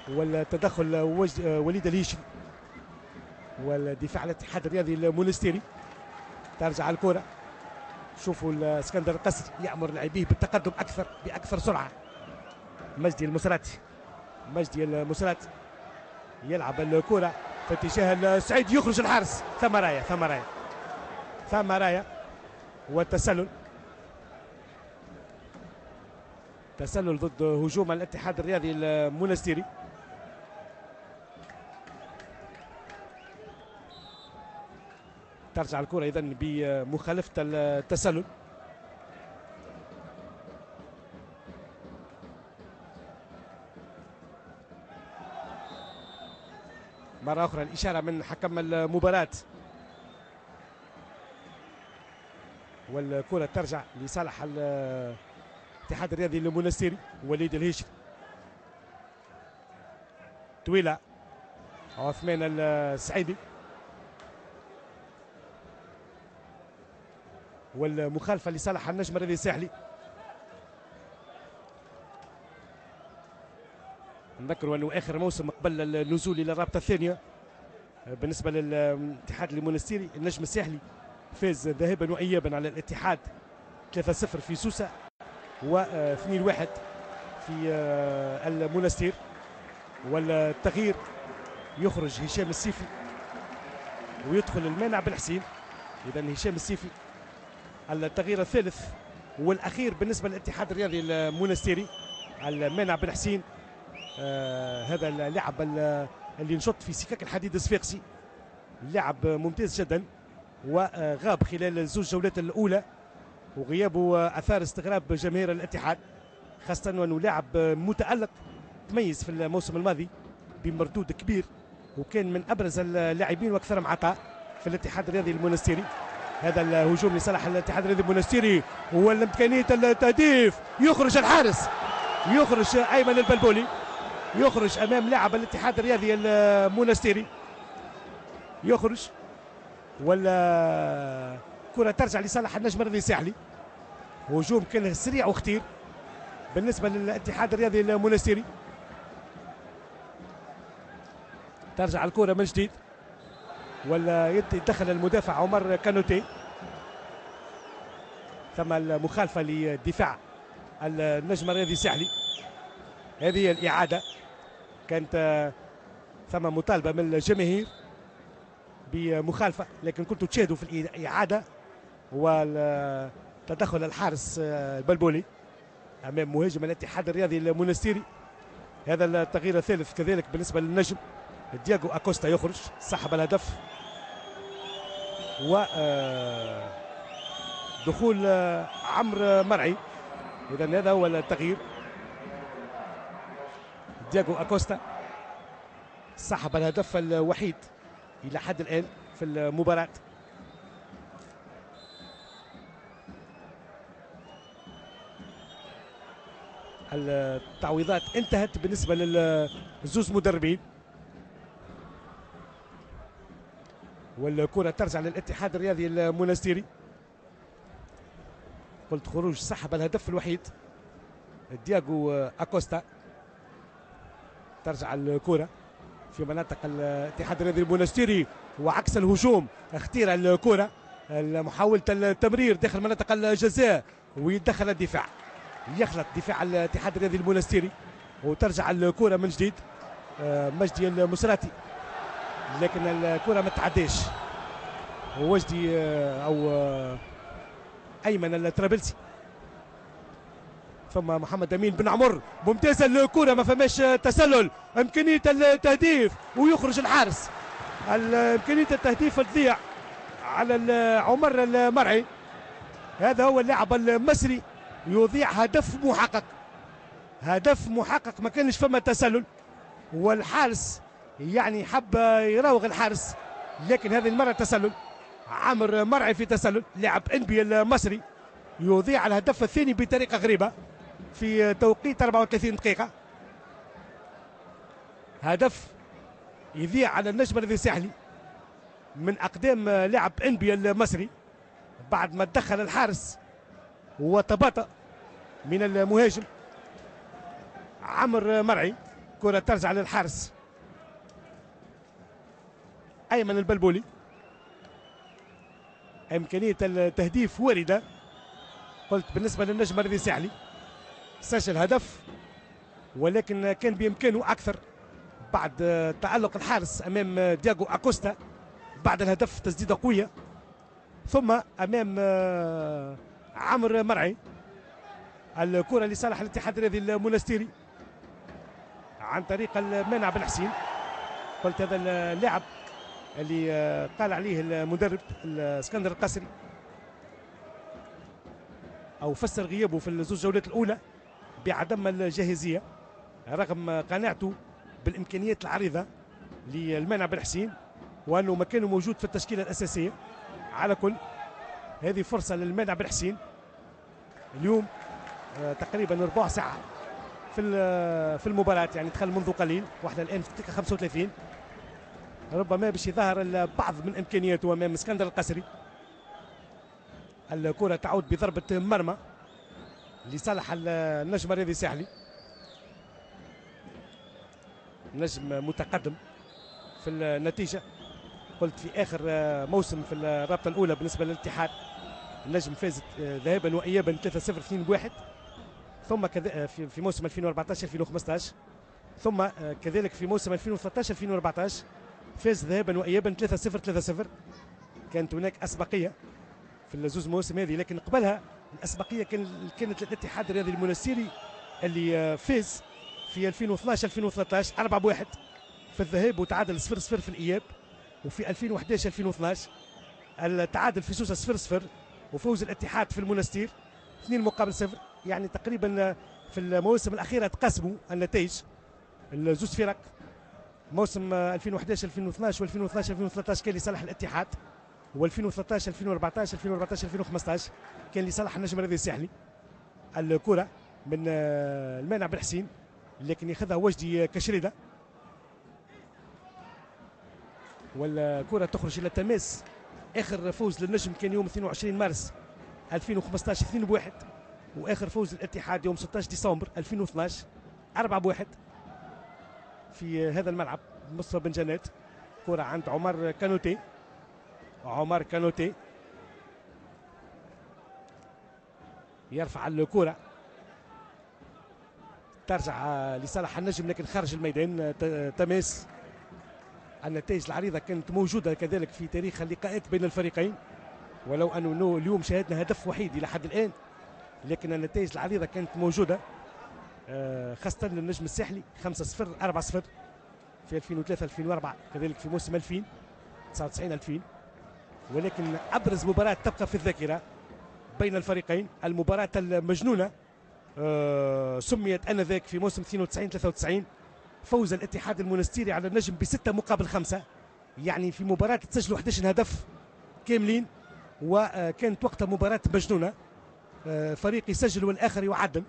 والتدخل وليد الهيشري والدفاع الاتحاد الرياضي المونستيري. ترجع الكرة. شوفوا الاسكندر القصري يأمر لاعبيه بالتقدم أكثر بأكثر سرعة. مجدي المسراتي، مجدي المسراتي يلعب الكرة في اتجاه السعيد، يخرج الحارس. ثم راية، ثم راية، ثم راية، والتسلل. تسلل ضد هجوم الاتحاد الرياضي المنستيري. ترجع الكرة إذن بمخالفة التسلل. مرة أخرى الإشارة من حكم المباراة، والكرة ترجع لصالح الاتحاد الرياضي المنستيري. وليد الهيشري، طويلة عثمان السعيدي، والمخالفة لصالح النجم الرياضي الساحلي. نذكروا أنه آخر موسم قبل النزول إلى الرابطة الثانية بالنسبة للاتحاد المنستيري، النجم الساحلي فاز ذهابا وإيابا على الاتحاد 3-0 في سوسة و2-1 في المنستير. والتغيير يخرج هشام السيفي ويدخل المانع بالحسين. إذا هشام السيفي التغيير الثالث والأخير بالنسبة للاتحاد الرياضي المنستيري. المانع بالحسين هذا اللاعب اللي نشط في سكك الحديد الصفاقسي، لاعب ممتاز جدا وغاب خلال الزوج جولات الأولى، وغيابه أثار استغراب جماهير الاتحاد، خاصة أنه لاعب متألق تميز في الموسم الماضي بمردود كبير وكان من أبرز اللاعبين وأكثرهم عطاء في الاتحاد الرياضي المنستيري. هذا الهجوم لصالح الاتحاد الرياضي المنستيري والإمكانية التهديف. يخرج الحارس، يخرج أيمن البلبولي، يخرج أمام لاعب الاتحاد الرياضي المنستيري، يخرج ولا كرة ترجع لصالح النجم الرياضي الساحلي. هجوم كان سريع وخطير بالنسبة للاتحاد الرياضي المنستيري. ترجع الكرة من جديد ولا يتدخل المدافع عمر كانوتي. ثم المخالفة لدفاع النجم الرياضي الساحلي. هذه الإعادة كانت ثم مطالبة من الجماهير بمخالفة، لكن كنتوا تشاهدوا في الإعادة والتدخل الحارس البلبولي أمام مهاجم الاتحاد الرياضي المنستيري. هذا التغيير الثالث كذلك بالنسبة للنجم. دياغو أكوستا يخرج سحب الهدف، و دخول عمرو مرعي. إذا هذا هو التغيير. دياغو أكوستا سحب الهدف الوحيد إلى حد الآن في المباراة. التعويضات انتهت بالنسبة للزوز مدربين، والكرة ترجع للاتحاد الرياضي المنستيري. قلت خروج سحب الهدف الوحيد دياغو أكوستا. ترجع الكرة في مناطق الاتحاد الرياضي المنستيري وعكس الهجوم، اختير الكرة، محاولة التمرير داخل مناطق الجزاء ويدخل الدفاع، يخلط دفاع الاتحاد الرياضي المنستيري وترجع الكرة من جديد مجدي المسراتي، لكن الكرة ما تعديش. وجدي او ايمن الطرابلسي، ثم محمد امين بن عمر، ممتازة الكره، ما فماش تسلل، امكانية التهديف ويخرج الحارس. امكانية التهديف تضيع على عمر المرعي. هذا هو اللاعب المصري يضيع هدف محقق، هدف محقق، ما كانش فما تسلل، والحارس يعني حب يراوغ الحارس، لكن هذه المرة تسلل. عمر مرعي في تسلل، لاعب انبي المصري يضيع الهدف الثاني بطريقة غريبة في توقيت 34 دقيقة. هدف يضيع على النجم الذي الساحلي من اقدام لاعب انبي المصري بعد ما تدخل الحارس وتباطأ من المهاجم عمر مرعي. كرة ترجع للحارس أيمن البلبولي. إمكانية التهديف واردة، قلت بالنسبة للنجم الرياضي الساحلي سجل هدف، ولكن كان بإمكانه أكثر بعد تألق الحارس أمام دياغو أكوستا بعد الهدف، تسديدة قوية، ثم أمام عمرو مرعي. الكرة لصالح الاتحاد الرياضي المونستيري عن طريق المانع بن حسين. قلت هذا اللاعب اللي قال عليه المدرب اسكندر القصري او فسر غيابه في الزوج جولات الاولى بعدم الجاهزيه، رغم قناعته بالامكانيات العريضة للمانع بن حسين وانه مكانه موجود في التشكيلة الاساسية. على كل هذه فرصة للمانع بن حسين اليوم، تقريبا ربع ساعة في المباراة، يعني دخل منذ قليل واحنا الان في الدقيقة 35، ربما باش يظهر البعض من امكانياته امام اسكندر القصري. الكره تعود بضربه مرمى لصالح النجم الرياضي الساحلي. نجم متقدم في النتيجة، قلت في اخر موسم في الرابطة الاولى بالنسبة للاتحاد النجم فازت ذهابا وايابا 3-0 2-1، ثم في موسم 2014 2015، ثم كذلك في موسم 2013 2014 فاز ذهابا وايابا 3-0 3-0. كانت هناك اسبقيه في الزوز مواسم هذه، لكن قبلها الاسبقيه كانت للاتحاد الرياضي المونستيري اللي فاز في 2012 2013 4-1 في الذهاب وتعادل 0-0 في الاياب، وفي 2011 2012 التعادل في سوسة 0-0 وفوز الاتحاد في المونستير 2-0. يعني تقريبا في المواسم الاخيرة تقاسموا النتائج الزوز فرق. موسم 2011 2012 و2012 2013 كان لصالح الاتحاد، و2013 2014 2014 2015 كان لصالح النجم الرياضي الساحلي. الكره من المانع بن حسين لكن ياخذها وجدي كشريده، والكره تخرج الى التماس. اخر فوز للنجم كان يوم 22 مارس 2015 2-1، واخر فوز للاتحاد يوم 16 ديسمبر 2012 4-1 في هذا الملعب مصطفى بن جنات. كرة عند عمر كانوتي، عمر كانوتي يرفع الكرة ترجع لصالح النجم لكن خارج الميدان تماس. النتائج العريضة كانت موجودة كذلك في تاريخ اللقاءات بين الفريقين، ولو أنه اليوم شاهدنا هدف وحيد إلى حد الآن، لكن النتائج العريضة كانت موجودة خاصة للنجم الساحلي 5-0 4-0 في 2003 2004، كذلك في موسم 2099 2000. ولكن أبرز مباراة تبقى في الذاكرة بين الفريقين المباراة المجنونة سميت آنذاك في موسم 92 93، فوز الاتحاد المونستيري على النجم ب6-5، يعني في مباراة تسجلوا 11 هدف كاملين، وكانت وقتها مباراة مجنونة، فريق يسجل والآخر يعدل،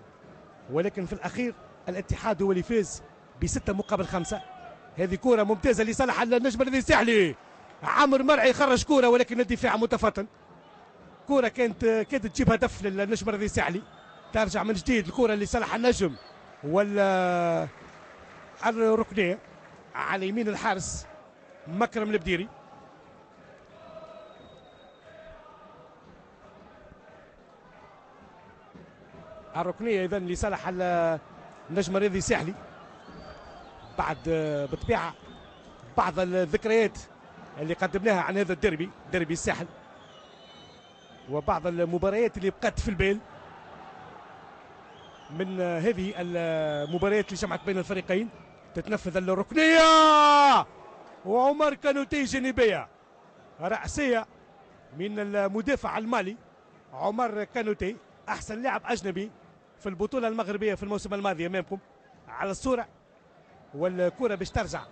ولكن في الأخير الاتحاد هو اللي فاز ب6-5. هذه كرة ممتازة لصالح النجم الذي الساحلي، عمرو مرعي خرج كرة ولكن الدفاع متفطن. كرة كانت كادت تجيب هدف للنجم الذي الساحلي، ترجع من جديد الكرة لصالح النجم ولا الركنية على يمين الحارس مكرم البديري. الركنية إذن لصالح النجم الرياضي الساحلي بعد بطبيعة بعض الذكريات اللي قدمناها عن هذا الديربي، ديربي الساحل، وبعض المباريات اللي بقت في البال من هذه المباريات اللي جمعت بين الفريقين. تتنفذ الركنية وعمر كانوتي جانبية رأسية من المدافع المالي عمر كانوتي، أحسن لاعب أجنبي في البطولة المغربية في الموسم الماضي أمامكم على الصورة. والكرة باش ترجع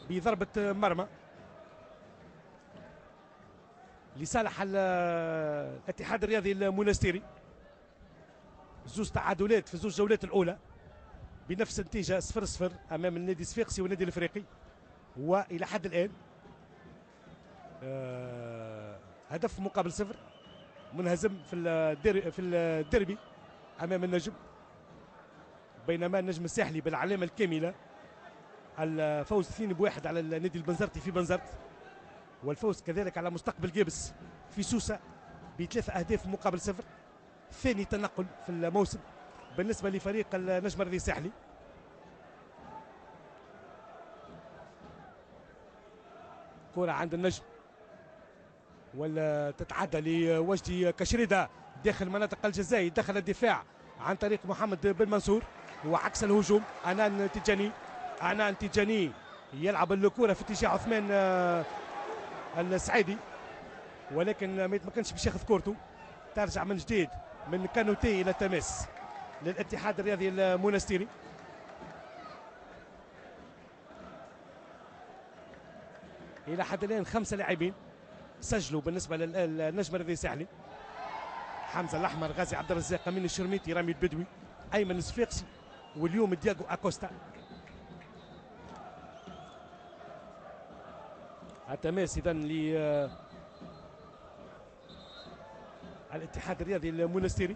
بضربة مرمى لصالح الاتحاد الرياضي المونستيري. زوج تعادلات في زوج جولات الأولى بنفس النتيجة 0-0 أمام النادي الصفاقسي والنادي الإفريقي، وإلى حد الآن هدف مقابل 0، منهزم في الديربي أمام النجم، بينما النجم الساحلي بالعلامة الكاملة الفوز 2-1 على النادي البنزرتي في بنزرت، والفوز كذلك على مستقبل جابس في سوسة ب3 أهداف مقابل 0. ثاني تنقل في الموسم بالنسبة لفريق النجم الرياضي الساحلي. كرة عند النجم ولا تتعدى لوجدي كشريدة داخل مناطق الجزاء، دخل الدفاع عن طريق محمد بن منصور، وعكس الهجوم أنان تيجاني. أنان تيجاني يلعب الكرة في اتجاه عثمان السعيدي، ولكن ما يتمكنش باش ياخذ كورته. ترجع من جديد من كانوتي إلى تماس للاتحاد الرياضي المونستيري. إلى حد الآن 5 لاعبين سجلوا بالنسبة للنجم الرياضي الساحلي: حمزة الأحمر، غازي عبد الرزاق، أمين الشرميتي، رامي البدوي، أيمن الصفاقسي، واليوم دياغو أكوستا. التماس إذن للاتحاد الرياضي المونستيري.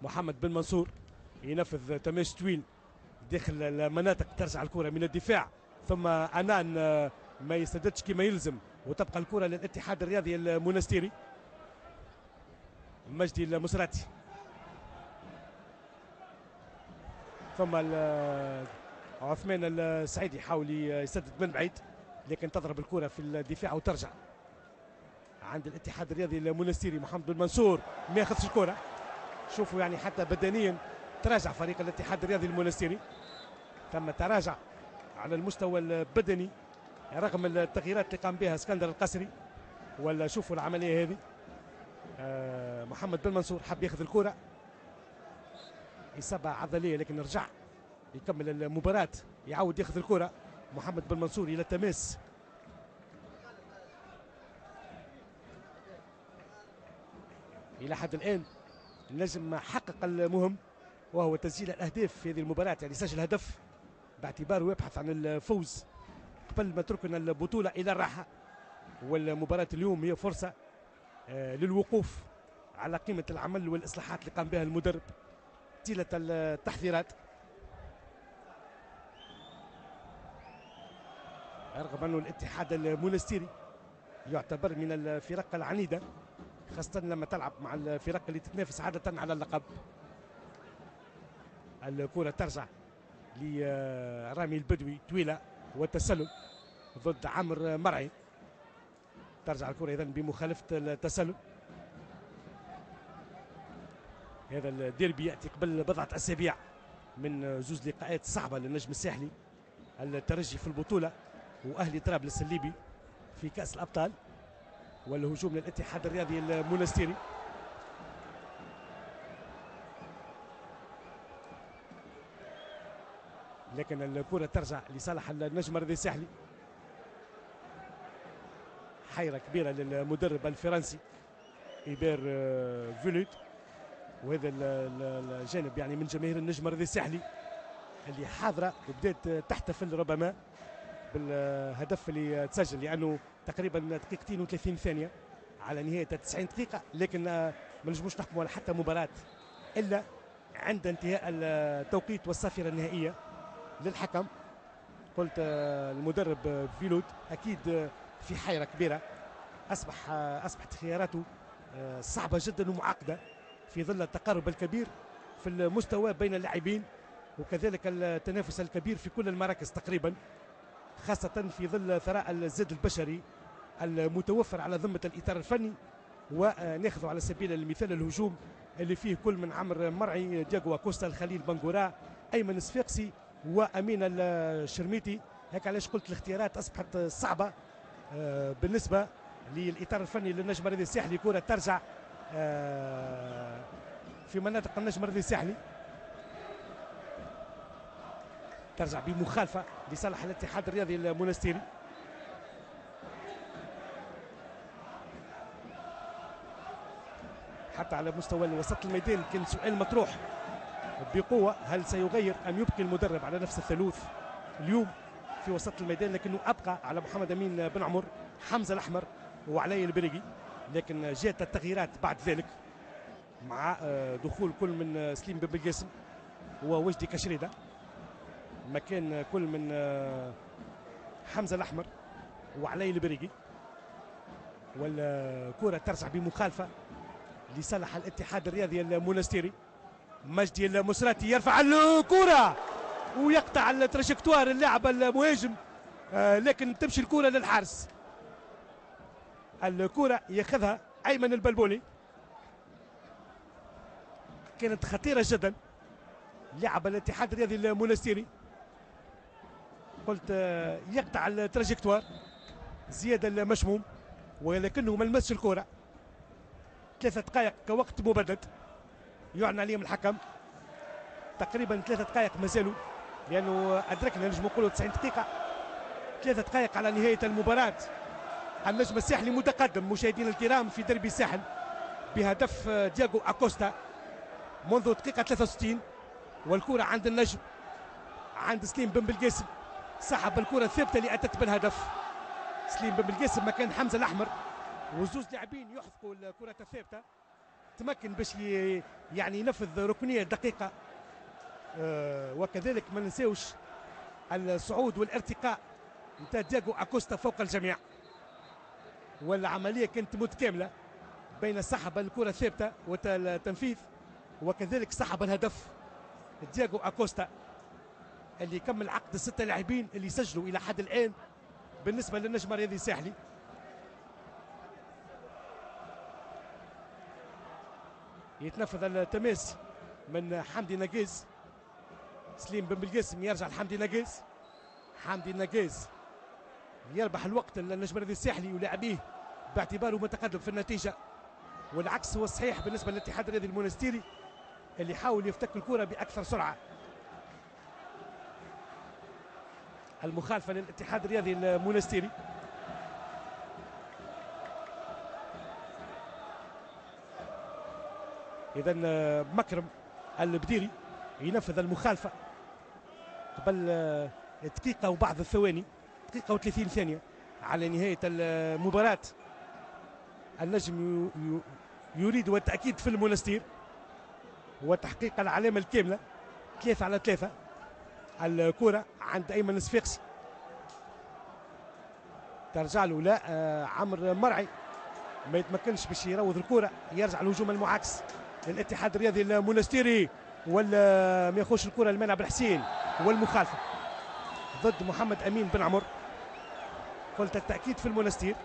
محمد بن منصور ينفذ تماس طويل داخل المناطق، ترجع الكرة من الدفاع، ثم أنان ما يسددش كما يلزم، وتبقى الكرة للاتحاد الرياضي المونستيري. مجدي المسراتي، ثم عثمان السعيدي يحاول يسدد من بعيد، لكن تضرب الكرة في الدفاع وترجع عند الاتحاد الرياضي المونستيري. محمد بن منصور ما ياخذش الكرة. شوفوا يعني حتى بدنيا تراجع فريق الاتحاد الرياضي المونستيري، تم تراجع على المستوى البدني رغم التغييرات اللي قام بها اسكندر القصري. ولا شوفوا العملية هذه، محمد بن منصور حب ياخذ الكرة، إصابة عضلية لكن رجع يكمل المباراة، يعاود ياخذ الكرة محمد بن منصور إلى التماس. إلى حد الآن النجم حقق المهم وهو تسجيل الأهداف في هذه المباراة، يعني سجل هدف باعتباره يبحث عن الفوز قبل ما تركنا البطولة إلى الراحة. والمباراة اليوم هي فرصة للوقوف على قيمة العمل والإصلاحات اللي قام بها المدرب طيلة التحضيرات، رغم أنه الاتحاد المونستيري يعتبر من الفرق العنيدة، خاصة لما تلعب مع الفرق اللي تتنافس عادة على اللقب. الكرة ترجع لرامي البدوي طويلة والتسلل ضد عمرو مرعي. ترجع الكرة إذن بمخالفة التسلل. هذا الديربي يأتي قبل بضعة أسابيع من زوج لقاءات صعبة للنجم الساحلي، الترجي في البطولة وأهلي طرابلس الليبي في كأس الأبطال. والهجوم للاتحاد الرياضي المونستيري. لكن الكرة ترجع لصالح النجم الرياضي الساحلي. حيرة كبيرة للمدرب الفرنسي إيبير فيلوت، وهذا الجانب يعني من جماهير النجم الرياضي الساحلي اللي حاضرة وبدات تحتفل ربما بالهدف اللي تسجل، لأنه تقريبا دقيقتين و30 ثانية على نهاية 90 دقيقة، لكن ما نجموش نحكموا على حتى مباراة إلا عند انتهاء التوقيت والصافرة النهائية للحكم. قلت المدرب فيلوت أكيد في حيرة كبيرة، أصبحت خياراته صعبة جدا ومعقدة في ظل التقارب الكبير في المستوى بين اللاعبين، وكذلك التنافس الكبير في كل المراكز تقريبا، خاصة في ظل ثراء الزاد البشري المتوفر على ذمة الإطار الفني. وناخذ على سبيل المثال الهجوم اللي فيه كل من عمرو مرعي، دياغو أكوستا، الخليل بنغورا، أيمن الصفاقسي، وأمين الشرميتي. هيك علاش قلت الاختيارات أصبحت صعبة بالنسبة للإطار الفني للنجم الرياضي الساحلي. كرة ترجع في مناطق النجم الرياضي الساحلي، ترجع بمخالفة لصالح الاتحاد الرياضي المونستيري. حتى على مستوى وسط الميدان كان سؤال مطروح بقوة، هل سيغير أم يبقي المدرب على نفس الثالوث اليوم في وسط الميدان؟ لكنه أبقى على محمد أمين بن عمر، حمزة الأحمر، وعلي البريقي. لكن جاءت التغييرات بعد ذلك مع دخول كل من سليم بن بالقاسم ووجدي كشريدة مكان كل من حمزة الأحمر وعلي البريقي. والكرة ترجع بمخالفة لصالح الاتحاد الرياضي المونستيري. مجدي المسراتي يرفع الكرة ويقطع ال trajectoire اللاعب المهاجم، لكن تمشي الكرة للحارس. الكرة ياخذها أيمن البلبولي، كانت خطيرة جدا. لعب الاتحاد الرياضي المونستيري، قلت يقطع ال trajectoire زياد المشموم، ولكنه ما لمسش الكرة. 3 دقائق كوقت مبدد يعلن عليهم الحكم، تقريبا 3 دقائق مازالوا، لأنه أدركنا نجم نقولوا 90 دقيقة. 3 دقائق على نهاية المباراة. النجم الساحلي متقدم مشاهدينا الكرام في دربي الساحل بهدف دياغو أكوستا منذ دقيقة 63، والكرة عند النجم، عند سليم بن بالقاسم، سحب الكرة الثابتة اللي أتت بالهدف. سليم بن بالقاسم مكان حمزة الأحمر، وزوز لاعبين يحرقوا الكرة الثابتة. تمكن باش يعني ينفذ ركنية دقيقة، وكذلك ما ننساوش الصعود والارتقاء نتاع دياغو أكوستا فوق الجميع. والعملية كانت متكاملة بين سحب الكرة الثابتة والتنفيذ، وكذلك سحب الهدف دياغو أكوستا اللي كمل عقد 6 لاعبين اللي سجلوا إلى حد الآن بالنسبة للنجم الرياضي الساحلي. يتنفذ التماس من حمدي نجيز، سليم بن بالقاسم يرجع لحمدي نجيز، حمدي نجيز يربح الوقت للنجم الرياضي الساحلي ولاعبيه باعتباره متقدم في النتيجة، والعكس هو الصحيح بالنسبة للاتحاد الرياضي المونستيري اللي حاول يفتك الكرة بأكثر سرعة. المخالفة للاتحاد الرياضي المونستيري. إذا مكرم البديري ينفذ المخالفة قبل دقيقة وبعض الثواني، دقيقة و30 ثانية على نهاية المباراة. النجم يريد التأكيد في المونستير وتحقيق العلامة الكاملة 3-3. الكرة عند أيمن الصفاقسي، ترجع له لا عمرو مرعي ما يتمكنش باش يروض الكرة، يرجع الهجوم المعاكس للاتحاد الرياضي المونستيري، ولا ما يخش الكرة لمنع بالحسين، والمخالفة ضد محمد أمين بن عمر. قلت التأكيد في المونستير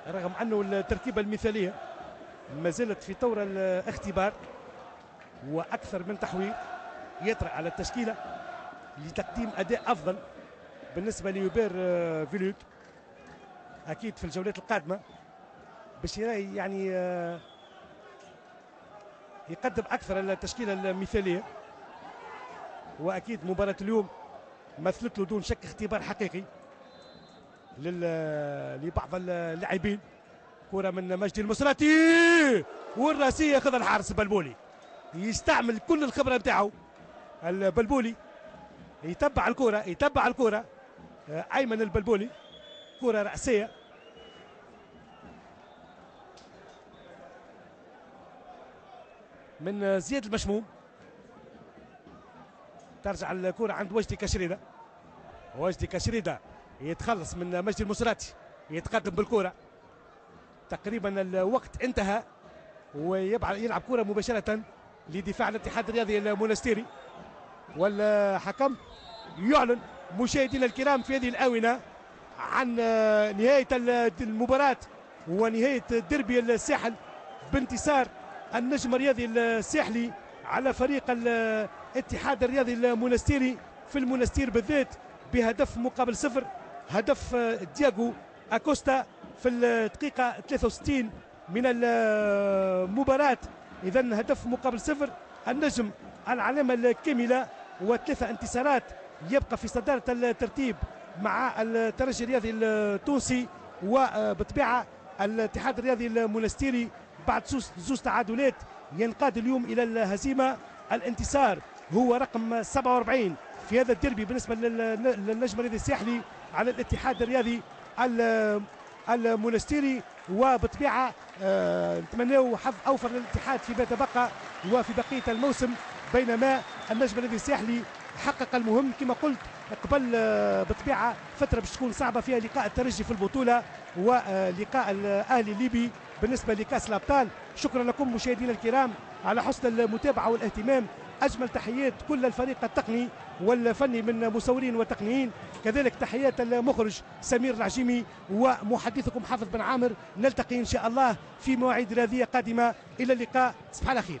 رغم أنه التركيبة المثالية ما زالت في طور الاختبار، وأكثر من تحوير يطرأ على التشكيلة لتقديم أداء أفضل بالنسبة ليوبير فيلوك. أكيد في الجولات القادمة باش يعني يقدم أكثر التشكيلة المثالية، وأكيد مباراة اليوم مثلت له دون شك اختبار حقيقي لبعض اللاعبين. كرة من مجدي المصراتي والراسية ياخذها الحارس بلبولي، يستعمل كل الخبرة نتاعو البلبولي، يتبع الكرة، يتبع الكرة أيمن البلبولي، كرة رأسية. من زياد المشموم، ترجع الكرة عند وجدي كشريدة، وجدي كشريدة يتخلص من مجدي المصراتي، يتقدم بالكرة، تقريبا الوقت انتهى، ويلعب كرة مباشرة لدفاع الاتحاد الرياضي المونستيري. والحكم يعلن مشاهدينا الكرام في هذه الآونة عن نهاية المباراة ونهاية ديربي الساحل بانتصار النجم الرياضي الساحلي على فريق الاتحاد الرياضي المونستيري في المونستير بالذات بهدف مقابل 0، هدف دياغو أكوستا في الدقيقة 63 من المباراة. إذا هدف مقابل 0، النجم العلامة الكاملة و3 انتصارات، يبقى في صدارة الترتيب مع الترجي الرياضي التونسي، وبطبيعة الاتحاد الرياضي المونستيري بعد زوز تعادلات ينقاد اليوم إلى الهزيمة. الانتصار هو رقم 47 في هذا الديربي بالنسبة للنجم الرياضي الساحلي على الاتحاد الرياضي المونستيري، وبطبيعة نتمناو حظ أوفر للاتحاد فيما تبقى وفي بقية الموسم، بينما النجم الرياضي الساحلي حقق المهم كما قلت قبل بطبيعة فترة باش تكون صعبة فيها لقاء الترجي في البطولة ولقاء الاهلي الليبي بالنسبة لكاس الابطال. شكرا لكم مشاهدينا الكرام على حسن المتابعة والاهتمام. اجمل تحيات كل الفريق التقني والفني من مصورين وتقنيين، كذلك تحيات المخرج سمير العجيمي ومحدثكم حافظ بن عامر. نلتقي ان شاء الله في مواعيد رياضية قادمة. الى اللقاء، تصبح على خير.